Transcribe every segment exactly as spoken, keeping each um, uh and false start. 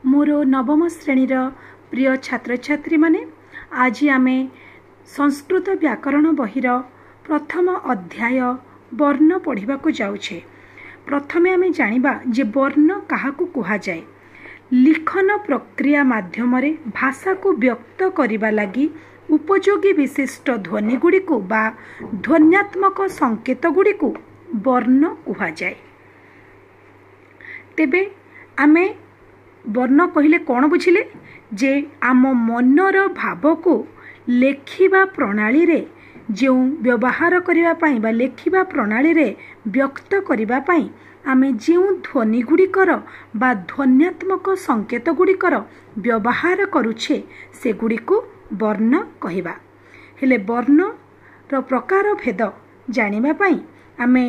ମୋର ନବମ ଶ୍ରେଣୀର ପ୍ରିୟ ଛାତ୍ରଛାତ୍ରୀମାନେ, ଆଜି ଆମେ ସଂସ୍କୃତ ବ୍ୟାକରଣ ବହିର ପ୍ରଥମ ଅଧ୍ୟାୟ ବର୍ଣ୍ଣ ପଢ଼ିବାକୁ ଯାଉଛେ। ପ୍ରଥମେ ଆମେ ଜାଣିବା ଯେ ବର୍ଣ୍ଣ କାହାକୁ କୁହାଯାଏ। ଲିଖନ ପ୍ରକ୍ରିୟା ମାଧ୍ୟମରେ ଭାଷାକୁ ବ୍ୟକ୍ତ କରିବା ଲାଗି ଉପଯୋଗୀ ବିଶିଷ୍ଟ ଧ୍ୱନିଗୁଡ଼ିକୁ ବା ଧ୍ୱନ୍ୟାତ୍ମକ ସଂକେତ ଗୁଡ଼ିକୁ ବର୍ଣ୍ଣ କୁହାଯାଏ। ତେବେ ଆମେ ବର୍ଣ୍ଣ କହିଲେ କ'ଣ ବୁଝିଲେ? ଯେ ଆମ ମନର ଭାବକୁ ଲେଖିବା ପ୍ରଣାଳୀରେ ଯେଉଁ ବ୍ୟବହାର କରିବା ପାଇଁ ବା ଲେଖିବା ପ୍ରଣାଳୀରେ ବ୍ୟକ୍ତ କରିବା ପାଇଁ ଆମେ ଯେଉଁ ଧ୍ୱନି ଗୁଡ଼ିକର ବା ଧ୍ୱନ୍ୟାତ୍ମକ ସଂକେତ ଗୁଡ଼ିକର ବ୍ୟବହାର କରୁଛେ, ସେଗୁଡ଼ିକୁ ବର୍ଣ୍ଣ କହିବା। ହେଲେ ବର୍ଣ୍ଣର ପ୍ରକାର ଭେଦ ଜାଣିବା ପାଇଁ ଆମେ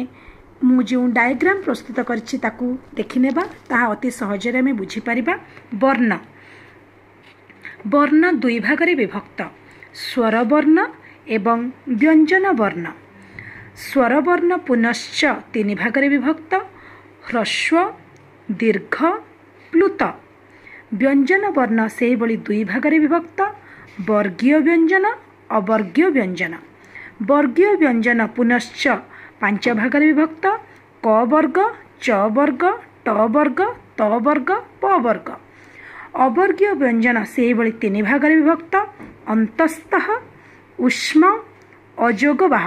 ମୁଁ ଯେଉଁ ଡାଇଗ୍ରାମ ପ୍ରସ୍ତୁତ କରିଛି ତାକୁ ଦେଖିନେବା, ତାହା ଅତି ସହଜରେ ଆମେ ବୁଝିପାରିବା। ବର୍ଣ୍ଣ ବର୍ଣ୍ଣ ଦୁଇ ଭାଗରେ ବିଭକ୍ତ, ସ୍ୱରବର୍ଣ୍ଣ ଏବଂ ବ୍ୟଞ୍ଜନ ବର୍ଣ୍ଣ। ସ୍ୱରବର୍ଣ୍ଣ ପୁନଶ୍ଚ ତିନି ଭାଗରେ ବିଭକ୍ତ, ହ୍ରସ୍ୱ, ଦୀର୍ଘ, ପ୍ଲୁତ। ବ୍ୟଞ୍ଜନ ବର୍ଣ୍ଣ ସେହିଭଳି ଦୁଇ ଭାଗରେ ବିଭକ୍ତ, ବର୍ଗୀୟ ବ୍ୟଞ୍ଜନ, ଅବର୍ଗୀୟ ବ୍ୟଞ୍ଜନ। ବର୍ଗୀୟ ବ୍ୟଞ୍ଜନ ପୁନଶ୍ଚ ପାଞ୍ଚ ଭାଗରେ ବିଭକ୍ତ, କ ବର୍ଗ, ଚ ବର୍ଗ, ଟ ବର୍ଗ, ତ ବର୍ଗ, ପ ବର୍ଗ। ଅବର୍ଗୀୟ ବ୍ୟଞ୍ଜନ ସେହିଭଳି ତିନି ଭାଗରେ ବିଭକ୍ତ, ଅନ୍ତସ୍ଥଃ, ଉଷ୍ମ, ଅଯୋଗବାହ।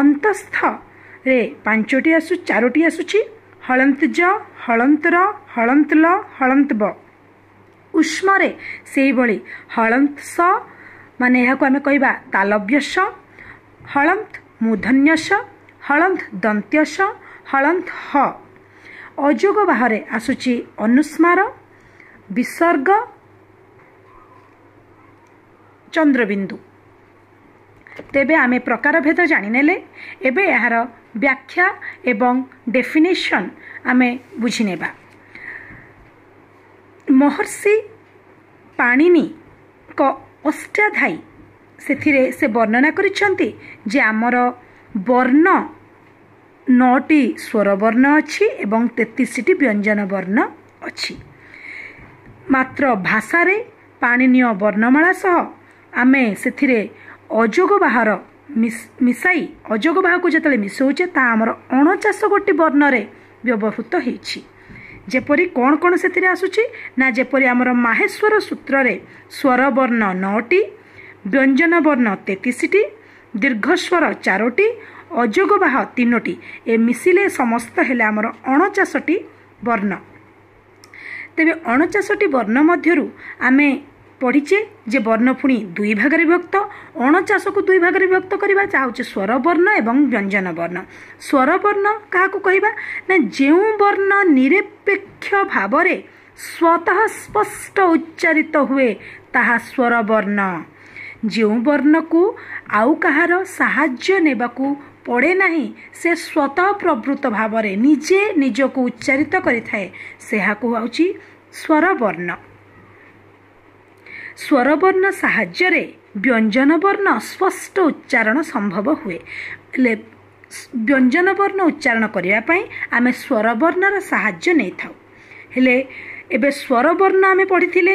ଅନ୍ତସ୍ଥରେ ପାଞ୍ଚଟି ଆସୁ ଚାରୋଟି ଆସୁଛି, ହଳନ୍ତ ଜ, ହଳନ୍ତ ର, ହଳନ୍ତ ଲ, ହଳନ୍ତ ବ। ଉଷ୍ମରେ ସେହିଭଳି ହଳନ୍ତ ସ, ମାନେ ଏହାକୁ ଆମେ କହିବା ତାଲବ୍ୟ ସ, ହଳନ୍ତ ମୂର୍ଧନ୍ୟ ସ, ହଳନ୍ତ ଦନ୍ତ୍ୟ ସ, ହଳନ୍ତ ହ। ଅଯୋଗ ବାହରେ ଆସୁଛି ଅନୁସ୍ମାର, ବିସର୍ଗ, ଚନ୍ଦ୍ରବିନ୍ଦୁ। ତେବେ ଆମେ ପ୍ରକାରଭେଦ ଜାଣିନେଲେ, ଏବେ ଏହାର ବ୍ୟାଖ୍ୟା ଏବଂ ଡେଫିନେସନ୍ ଆମେ ବୁଝିନେବା। ମହର୍ଷି ପାଣିନିଙ୍କ ଅଷ୍ଟାଧ୍ୟାୟୀ, ସେଥିରେ ସେ ବର୍ଣ୍ଣନା କରିଛନ୍ତି ଯେ ଆମର ବର୍ଣ୍ଣ ନଅଟି ସ୍ୱରବର୍ଣ୍ଣ ଅଛି ଏବଂ ତେତିଶଟି ବ୍ୟଞ୍ଜନ ବର୍ଣ୍ଣ ଅଛି। ମାତ୍ର ଭାଷାରେ ପାଣିନୀୟ ବର୍ଣ୍ଣମାଳା ସହ ଆମେ ସେଥିରେ ଅଯୋଗ ବାହାର ମିଶାଇ, ଅଯୋଗ ବାହାକୁ ଯେତେବେଳେ ମିଶାଉଛେ ତାହା ଆମର ଅଣଚାଶ ଗୋଟି ବର୍ଣ୍ଣରେ ବ୍ୟବହୃତ ହେଇଛି। ଯେପରି କ'ଣ କ'ଣ ସେଥିରେ ଆସୁଛି ନା, ଯେପରି ଆମର ମାହେଶ୍ୱର ସୂତ୍ରରେ ସ୍ୱରବର୍ଣ୍ଣ ନଅଟି, ବ୍ୟଞ୍ଜନ ବର୍ଣ୍ଣ ତେତିଶଟି, ଦୀର୍ଘସ୍ୱର ଚାରୋଟି, ଅଯୋଗବାହ ତିନୋଟି, ଏ ମିଶିଲେ ସମସ୍ତ ହେଲେ ଆମର ଅଣଚାଶଟି ବର୍ଣ୍ଣ। ତେବେ ଅଣଚାଶଟି ବର୍ଣ୍ଣ ମଧ୍ୟରୁ ଆମେ ପଢ଼ିଛେ ଯେ ବର୍ଣ୍ଣ ପୁଣି ଦୁଇ ଭାଗରେ ବିଭକ୍ତ। ଅଣଚାଶକୁ ଦୁଇ ଭାଗରେ ବିଭକ୍ତ କରିବା, ଯାହା ହେଉଛି ସ୍ୱରବର୍ଣ୍ଣ ଏବଂ ବ୍ୟଞ୍ଜନ ବର୍ଣ୍ଣ। ସ୍ୱରବର୍ଣ୍ଣ କାହାକୁ କହିବା ନା, ଯେଉଁ ବର୍ଣ୍ଣ ନିରପେକ୍ଷ ଭାବରେ ସ୍ୱତଃ ସ୍ପଷ୍ଟ ଉଚ୍ଚାରିତ ହୁଏ ତାହା ସ୍ୱରବର୍ଣ୍ଣ। ଯେଉଁ ବର୍ଣ୍ଣକୁ ଆଉ କାହାର ସାହାଯ୍ୟ ନେବାକୁ ପଡ଼େ ନାହିଁ, ସେ ସ୍ୱତଃ ପ୍ରବୃତ୍ତ ଭାବରେ ନିଜେ ନିଜକୁ ଉଚ୍ଚାରିତ କରିଥାଏ, ସେହାକୁ ହେଉଛି ସ୍ୱରବର୍ଣ୍ଣ। ସ୍ୱରବର୍ଣ୍ଣ ସାହାଯ୍ୟରେ ବ୍ୟଞ୍ଜନ ବର୍ଣ୍ଣ ସ୍ପଷ୍ଟ ଉଚ୍ଚାରଣ ସମ୍ଭବ ହୁଏ। ହେଲେ ବ୍ୟଞ୍ଜନ ବର୍ଣ୍ଣ ଉଚ୍ଚାରଣ କରିବା ପାଇଁ ଆମେ ସ୍ୱରବର୍ଣ୍ଣର ସାହାଯ୍ୟ ନେଇଥାଉ। ହେଲେ ଏବେ ସ୍ୱରବର୍ଣ୍ଣ ଆମେ ପଢ଼ିଥିଲେ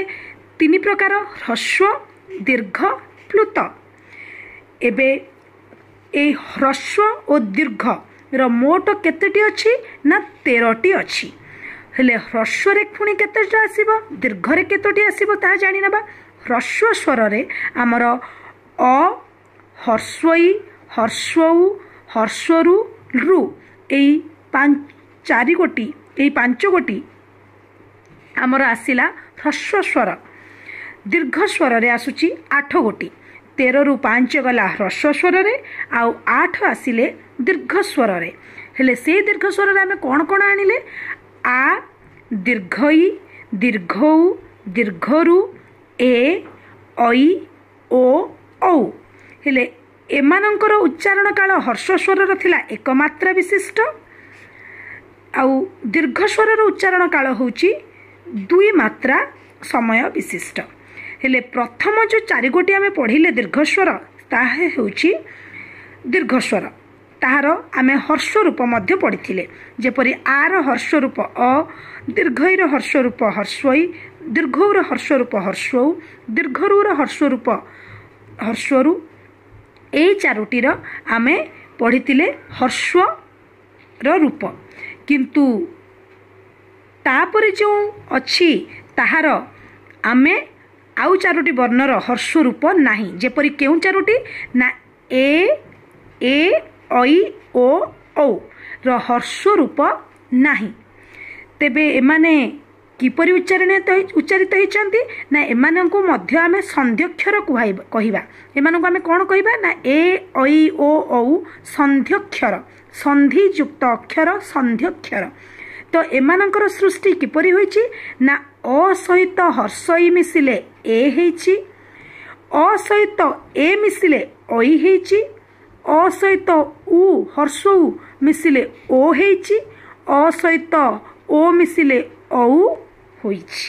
ତିନି ପ୍ରକାର, ହ୍ରସ୍ୱ, ଦୀର୍ଘ, ପ୍ଲୁତ। ଏବେ ଏଇ ହ୍ରସ୍ୱ ଓ ଦୀର୍ଘର ମୋଟ କେତେଟି ଅଛି ନା ତେରଟି ଅଛି। ହେଲେ ହ୍ରସ୍ୱରେ ପୁଣି କେତେଟା ଆସିବ, ଦୀର୍ଘରେ କେତୋଟି ଆସିବ ତାହା ଜାଣିନେବା। ହ୍ରସ୍ୱ ସ୍ୱରରେ ଆମର ଅ, ହର୍ସ୍ୱଇ, ହର୍ସ୍ୱଉ, ହର୍ସ୍ୱରୁ, ରୁ, ଏଇ ଚାରି ଗୋଟି, ଏଇ ପାଞ୍ଚ ଗୋଟି ଆମର ଆସିଲା ହ୍ରସ୍ୱ ସ୍ୱର। ଦୀର୍ଘ ସ୍ୱରରେ ଆସୁଛି ଆଠ ଗୋଟି। ତେରରୁ ପାଞ୍ଚ ଗଲା ହ୍ରସ୍ୱ ସ୍ୱରରେ, ଆଉ ଆଠ ଆସିଲେ ଦୀର୍ଘ ସ୍ୱରରେ। ହେଲେ ସେଇ ଦୀର୍ଘ ସ୍ୱରରେ ଆମେ କ'ଣ କ'ଣ ଆଣିଲେ? ଆ, ଦୀର୍ଘଇ, ଦୀର୍ଘଉ, ଦୀର୍ଘରୁ, ଏ, ଐ, ଓ, ଔ। ହେଲେ ଏମାନଙ୍କର ଉଚ୍ଚାରଣ କାଳ ହ୍ରସ୍ୱ ସ୍ୱରର ଥିଲା ଏକ ମାତ୍ରା ବିଶିଷ୍ଟ, ଆଉ ଦୀର୍ଘ ସ୍ୱରର ଉଚ୍ଚାରଣ କାଳ ହେଉଛି ଦୁଇ ମାତ୍ରା ସମୟ ବିଶିଷ୍ଟ। ହେଲେ ପ୍ରଥମ ଯେଉଁ ଚାରିଗୋଟି ଆମେ ପଢ଼ିଲେ ଦୀର୍ଘ ସ୍ୱର, ତାହା ହେଉଛି ଦୀର୍ଘ ସ୍ୱର। ତାହାର ଆମେ ହର୍ଷରୂପ ରୂପ ମଧ୍ୟ ପଢ଼ିଥିଲେ। ଯେପରି ଆର ହର୍ଷରୂପ ରୂପ ଅ, ଦୀର୍ଘଇର ହର୍ଷରୂପ ରୂପ ହର୍ଷଇ, ଦୀର୍ଘଉର ହର୍ଷରୂପ ରୂପ ହର୍ଷଉ, ଦୀର୍ଘରୁର ହର୍ଷରୂପ ରୂପ ହର୍ଷରୁ, ଏଇ ଚାରୋଟିର ଆମେ ପଢ଼ିଥିଲେ ହର୍ଷର ରୂପ। କିନ୍ତୁ ତାପରେ ଯେଉଁ ଅଛି ତାହାର ଆମେ ଆଉ ଚାରୋଟି ବର୍ଣ୍ଣର ହର୍ଷ ରୂପ ନାହିଁ। ଯେପରି କେଉଁ ଚାରୋଟି ନା ଏ, ଏ, ଐ, ଓ, ଔ ର ହର୍ଷ ରୂପ ନାହିଁ। ତେବେ ଏମାନେ କିପରି ଉଚ୍ଚାରଣ ଉଚ୍ଚାରିତ ହେଇଛନ୍ତି ନା ଏମାନଙ୍କୁ ମଧ୍ୟ ଆମେ ସନ୍ଧ୍ୟକ୍ଷର କହିବା। ଏମାନଙ୍କୁ ଆମେ କ'ଣ କହିବା ନା ଏ, ଐ, ଓ, ଔ ସନ୍ଧ୍ୟକ୍ଷର, ସନ୍ଧିଯୁକ୍ତ ଅକ୍ଷର, ସନ୍ଧ୍ୟକ୍ଷର। ତ ଏମାନଙ୍କର ସୃଷ୍ଟି କିପରି ହୋଇଛି ନା ଅ ସହିତ ହର୍ଷଇ ମିଶିଲେ ଏ ହେଇଛି, ଅ ସହିତ ଏ ମିଶିଲେ ଐ ହେଇଛି, ଅ ସହିତ ଉ ହର୍ଷ ଉ ମିଶିଲେ ଓ ହେଇଛି, ଅ ସହିତ ଓ ମିଶିଲେ ଔ ହୋଇଛି।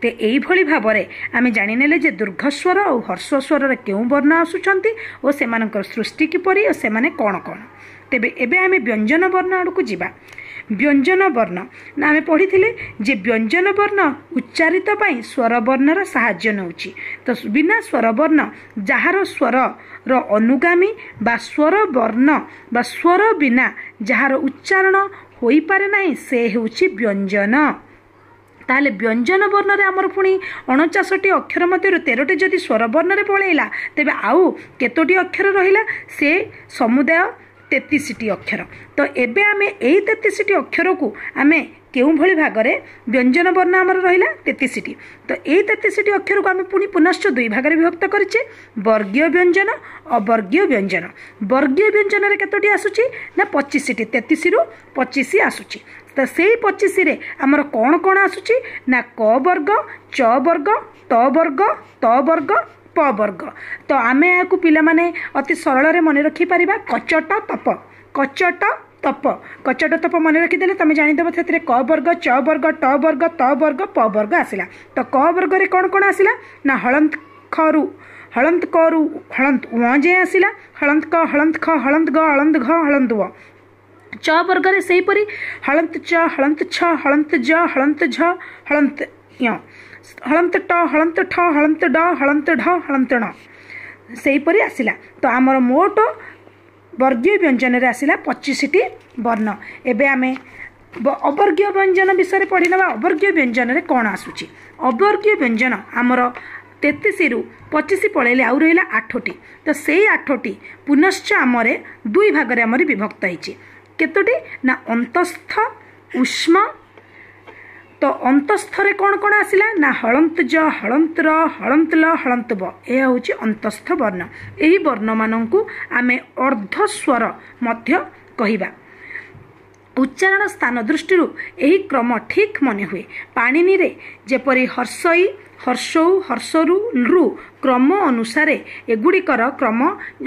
ତ ଏଇଭଳି ଭାବରେ ଆମେ ଜାଣିନେଲେ ଯେ ଦୀର୍ଘସ୍ୱର ଆଉ ହର୍ଷସ୍ୱରରେ କେଉଁ ବର୍ଣ୍ଣ ଆସୁଛନ୍ତି ଓ ସେମାନଙ୍କର ସୃଷ୍ଟି କିପରି ଓ ସେମାନେ କ'ଣ କ'ଣ। ତେବେ ଏବେ ଆମେ ବ୍ୟଞ୍ଜନ ବର୍ଣ୍ଣ ଆଡ଼କୁ ଯିବା। ବ୍ୟଞ୍ଜନ ବର୍ଣ୍ଣ ନା ଆମେ ପଢ଼ିଥିଲେ ଯେ ବ୍ୟଞ୍ଜନ ବର୍ଣ୍ଣ ଉଚ୍ଚାରିତ ପାଇଁ ସ୍ୱରବର୍ଣ୍ଣର ସାହାଯ୍ୟ ନେଉଛି। ତ ବିନା ସ୍ୱରବର୍ଣ୍ଣ, ଯାହାର ସ୍ୱରର ଅନୁଗାମୀ ବା ସ୍ୱରବର୍ଣ୍ଣ ବା ସ୍ୱର ବିନା ଯାହାର ଉଚ୍ଚାରଣ ହୋଇପାରେ ନାହିଁ, ସେ ହେଉଛି ବ୍ୟଞ୍ଜନ। ତାହେଲେ ବ୍ୟଞ୍ଜନ ବର୍ଣ୍ଣରେ ଆମର ପୁଣି ଅଣଚାଶଟି ଅକ୍ଷର ମଧ୍ୟରୁ ତେରଟି ଯଦି ସ୍ୱରବର୍ଣ୍ଣରେ ପଳେଇଲା, ତେବେ ଆଉ କେତୋଟି ଅକ୍ଷର ରହିଲା? ସେ ସମୁଦାୟ ତେତିଶଟି ଅକ୍ଷର। ତ ଏବେ ଆମେ ଏଇ ତେତିଶଟି ଅକ୍ଷରକୁ ଆମେ କେଉଁଭଳି ଭାଗରେ, ବ୍ୟଞ୍ଜନ ବର୍ଣ୍ଣ ଆମର ରହିଲା ତେତିଶଟି, ତ ଏଇ ତେତିଶଟି ଅକ୍ଷରକୁ ଆମେ ପୁଣି ପୁନଶ୍ଚ ଦୁଇ ଭାଗରେ ବିଭକ୍ତ କରିଛେ, ବର୍ଗୀୟ ବ୍ୟଞ୍ଜନ, ଅବର୍ଗୀୟ ବ୍ୟଞ୍ଜନ। ବର୍ଗୀୟ ବ୍ୟଞ୍ଜନରେ କେତୋଟି ଆସୁଛି ନା ପଚିଶଟି, ତେତିଶରୁ ପଚିଶ ଆସୁଛି। ତ ସେଇ ପଚିଶରେ ଆମର କ'ଣ କ'ଣ ଆସୁଛି ନା କ ବର୍ଗ, ଚ ବର୍ଗ, ଟ ବର୍ଗ, ତ ବର୍ଗ, ପ ବର୍ଗ। ତ ଆମେ ଏହାକୁ ପିଲାମାନେ ଅତି ସରଳରେ ମନେ ରଖିପାରିବା, କଚଟ ତପ, କଚଟ ତପ। କଚଟ ତପ ମନେ ରଖିଦେଲେ ତମେ ଜାଣିଦେବ ସେଥିରେ କ ବର୍ଗ, ଚ ବର୍ଗ, ଟ ବର୍ଗ, ତ ବର୍ଗ, ପ ବର୍ଗ ଆସିଲା। ତ କ ବର୍ଗରେ କ'ଣ କ'ଣ ଆସିଲା ନା ହଳନ୍ତ ଖରୁ ହଳନ୍ତ କରୁ ହଳନ୍ତ ଉଁ ଯାଏଁ ଆସିଲା, ହଳନ୍ତ କ, ହଳନ୍ତ ଖ, ହଳନ୍ତ ଗ, ହଳନ୍ତ ଘ, ହଳନ୍ତ ୱ। ଚ ବର୍ଗରେ ସେହିପରି ହଳନ୍ତ ଚ, ହଳନ୍ତ ଛ, ହଳନ୍ତ ଜ, ହଳନ୍ତ ଝ, ହଳନ୍ତ ୟ, ହଳନ୍ତ ଟ, ହଳନ୍ତ ଠ, ହଳନ୍ତ ଡ, ହଳନ୍ତ ଢ, ହଳନ୍ତ ଣ ସେହିପରି ଆସିଲା। ତ ଆମର ମୋଟ ବର୍ଗୀୟ ବ୍ୟଞ୍ଜନରେ ଆସିଲା ପଚିଶଟି ବର୍ଣ୍ଣ। ଏବେ ଆମେ ଅବର୍ଗୀୟ ବ୍ୟଞ୍ଜନ ବିଷୟରେ ପଢ଼ିନେବା। ଅବର୍ଗୀୟ ବ୍ୟଞ୍ଜନରେ କ'ଣ ଆସୁଛି? ଅବର୍ଗୀୟ ବ୍ୟଞ୍ଜନ ଆମର ତେତିଶରୁ ପଚିଶ ପଳେଇଲେ ଆଉ ରହିଲା ଆଠଟି। ତ ସେଇ ଆଠଟି ପୁନଶ୍ଚ ଆମର ଦୁଇ ଭାଗରେ ଆମର ବିଭକ୍ତ ହେଇଛି। କେତୋଟି ନା ଅନ୍ତସ୍ଥ, ଉଷ୍ମ। ତ ଅନ୍ତସ୍ଥରେ କ'ଣ କ'ଣ ଆସିଲା ନା ହଳନ୍ତ ଜ, ହଳନ୍ତ ର, ହଳନ୍ତ ଲ, ହଳନ୍ତ ବ। ଏହା ହେଉଛି ଅନ୍ତସ୍ଥ ବର୍ଣ୍ଣ। ଏହି ବର୍ଣ୍ଣମାନଙ୍କୁ ଆମେ ଅର୍ଦ୍ଧସ୍ୱର ମଧ୍ୟ କହିବା। ଉଚ୍ଚାରଣ ସ୍ଥାନ ଦୃଷ୍ଟିରୁ ଏହି କ୍ରମ ଠିକ୍ ମନେ ହୁଏ। ପାଣିନିରେ ଯେପରି ହର୍ଷଇ, ହର୍ଷଉ, ହର୍ଷରୁ, ଲୃ କ୍ରମ ଅନୁସାରେ ଏଗୁଡ଼ିକର କ୍ରମ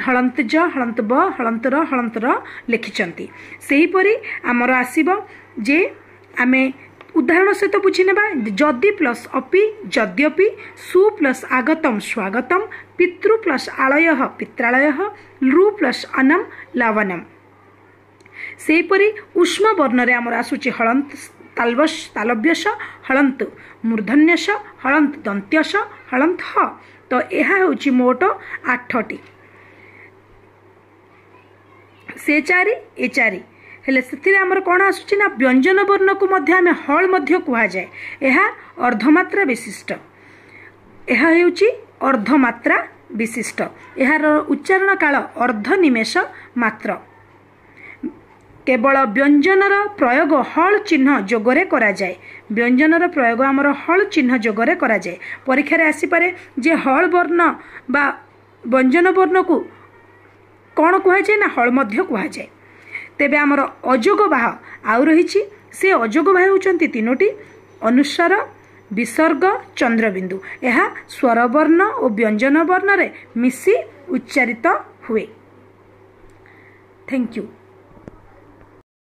ହଳନ୍ତ ଜ, ହଳନ୍ତ ବ, ହଳନ୍ତ ର, ହଳନ୍ତ ର ଲେଖିଛନ୍ତି, ସେହିପରି ଆମର ଆସିବ ଯେ ଆମେ ଉଦାହରଣ ସହିତ ବୁଝିନେବା। ଯଦି ପ୍ଲସ୍ ଅପି ଯଦ୍ୟପି, ସୁ ପ୍ଲସ୍ ଆଗତମ ସ୍ୱାଗତମ, ପିତୃ ପ୍ଲସ୍ ଆଳୟ ପିତ୍ରାଳୟ, ଲୃ ପ୍ଲସ୍ ଅନମ ଲବନମ। ସେହିପରି ଉଷ୍ମ ବର୍ଣ୍ଣରେ ଆମର ଆସୁଛି ହଳନ୍ତ ତାଲବସ ତାଲବ୍ୟସ, ହଳନ୍ତ ମୂର୍ଧନ୍ୟସ, ହଳନ୍ତ ଦନ୍ତ୍ୟସ, ହଳନ୍ତ ହ। ତ ଏହା ହେଉଛି ମୋଟ ଆଠଟି, ସେ ଚାରି ଏ ଚାରି ହେଲେ ସେଥିରେ ଆମର କ'ଣ ଆସୁଛି ନା ବ୍ୟଞ୍ଜନ ବର୍ଣ୍ଣକୁ ମଧ୍ୟ ଆମେ ହଳ ମଧ୍ୟ କୁହାଯାଏ। ଏହା ଅର୍ଦ୍ଧମାତ୍ରା ବିଶିଷ୍ଟ, ଏହା ହେଉଛି ଅର୍ଦ୍ଧମାତ୍ରା ବିଶିଷ୍ଟ। ଏହାର ଉଚ୍ଚାରଣ କାଳ ଅର୍ଦ୍ଧ ନିମେଷ ମାତ୍ର। କେବଳ ବ୍ୟଞ୍ଜନର ପ୍ରୟୋଗ ହଳ ଚିହ୍ନ ଯୋଗରେ କରାଯାଏ। ବ୍ୟଞ୍ଜନର ପ୍ରୟୋଗ ଆମର ହଳ ଚିହ୍ନ ଯୋଗରେ କରାଯାଏ। ପରୀକ୍ଷାରେ ଆସିପାରେ ଯେ ହଳ ବର୍ଣ୍ଣ ବା ବ୍ୟଞ୍ଜନ ବର୍ଣ୍ଣକୁ କ'ଣ କୁହାଯାଏ ନା ହଳ ମଧ୍ୟ କୁହାଯାଏ। ତେବେ ଆମର ଅଯୋଗବାହ ଆଉ ରହିଛି। ସେ ଅଯୋଗବାହ ହେଉଛନ୍ତି ତିନୋଟି, ଅନୁସ୍ୱାର, ବିସର୍ଗ, ଚନ୍ଦ୍ରବିନ୍ଦୁ। ଏହା ସ୍ୱରବର୍ଣ୍ଣ ଓ ବ୍ୟଞ୍ଜନ ବର୍ଣ୍ଣରେ ମିଶି ଉଚ୍ଚାରିତ ହୁଏ। Thank you.